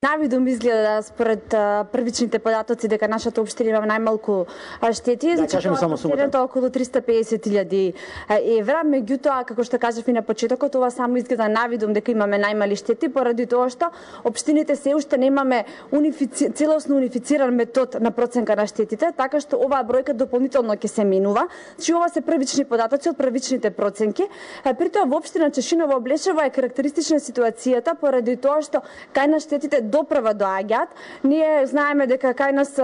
Навидум изгледа според првичните податоци дека нашата општина има најмалку штети, значи тоа околу 350.000 евра, меѓутоа како што кажав и на почетокот, ова само изгледа навидум дека имаме најмали штети поради тоа што општините се уште немаме целосно унифициран метод на проценка на штетите, така што оваа бројка дополнително ќе се менува. Значи ова се првични податоци од првичните проценки. При тоа во општина Чешиново Облешево е карактеристична ситуацијата поради тоа што кај нас штетите допрва доаѓаат. Ние знаеме дека кај нас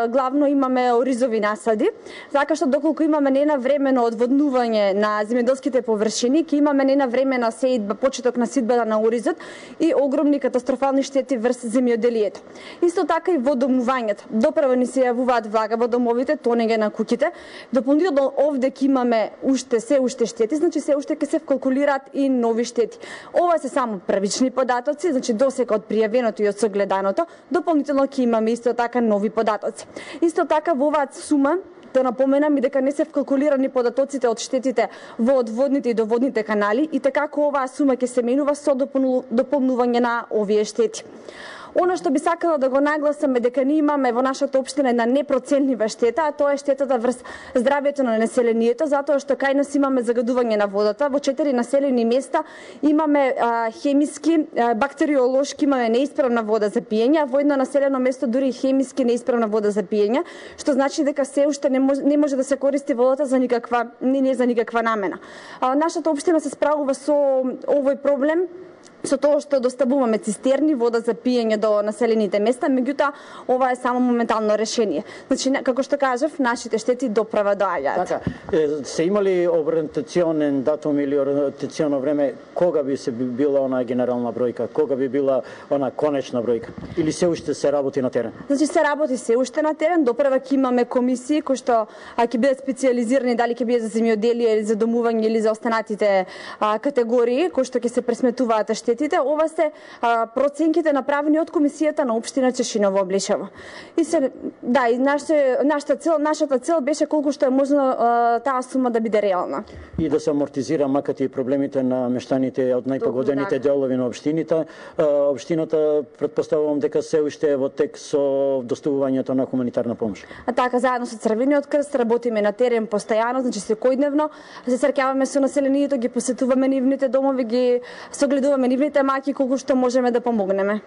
главно имаме оризови насади, така што доколку имаме ненавремено одводнување на земјоделските површини, ќе имаме ненавремена сеидба, почеток на сидбата на оризот и огромни катастрофални штети врз земјоделието. Исто така и водомувањето. Допрва ни се јавуваат влага во домовите, тонење на куќите. Дополнително овде ќе имаме се уште штети, значи се уште ќе се вкалкулираат и нови штети. Ова се само првични податоци, значи досека од пријавеното и од согледаното, дополнително ќе имаме исто така нови податоци. Исто така во оваа сума да напоменам и дека не се вкалкулирани податоците од штетите во одводните и доводните канали и така оваа сума ќе се менува со дополнување на овие штети. Она што би сакала да го нагласам е дека ние имаме во нашата општина една непроценлива штета, а тоа е штетата врз здравјето на населението, затоа што кај нас имаме загадување на водата. Во 4 населени места имаме хемиски, бактериолошки, имаме неисправна вода за пиење, а во едно населено место дури хемиски неисправна вода за пиење, што значи дека се уште не може да се користи водата за никаква намена. Нашата општина се справува со овој проблем со тоа што доставуваме цистерни, вода за пиење до населените места, меѓутоа ова е само моментално решение. Значи, како што кажав, нашите штети допрва доаѓаат. Така, се имали ориентационен датум или ориентационо време кога би се била она генерална бројка, кога би била она конечна бројка? Или се уште се работи на терен? Значи, се работи се уште на терен, допрва ќе имаме комисии кои што ќе бидат специјализирани, дали ќе биде за земјоделие или за домување или за останатите категории кои што ќе се пресметуваат штетите. Ова се проценките направени од комисијата на општина Чешиново Облешево. И нашата цел беше колку што е можно таа сума да биде реална. И да се амортизира макар и проблемите на мештаните од најпогодените делови на општината. Општината претпоставувам дека се уште е во тек со доставувањето на хуманитарна помош. Така, заедно со Црвениот крст работиме на терен постојано, значи секојдневно се среќаваме со населението, ги посетуваме нивните домови, ги согледуваме нивните маки колку што можеме да помогнеме.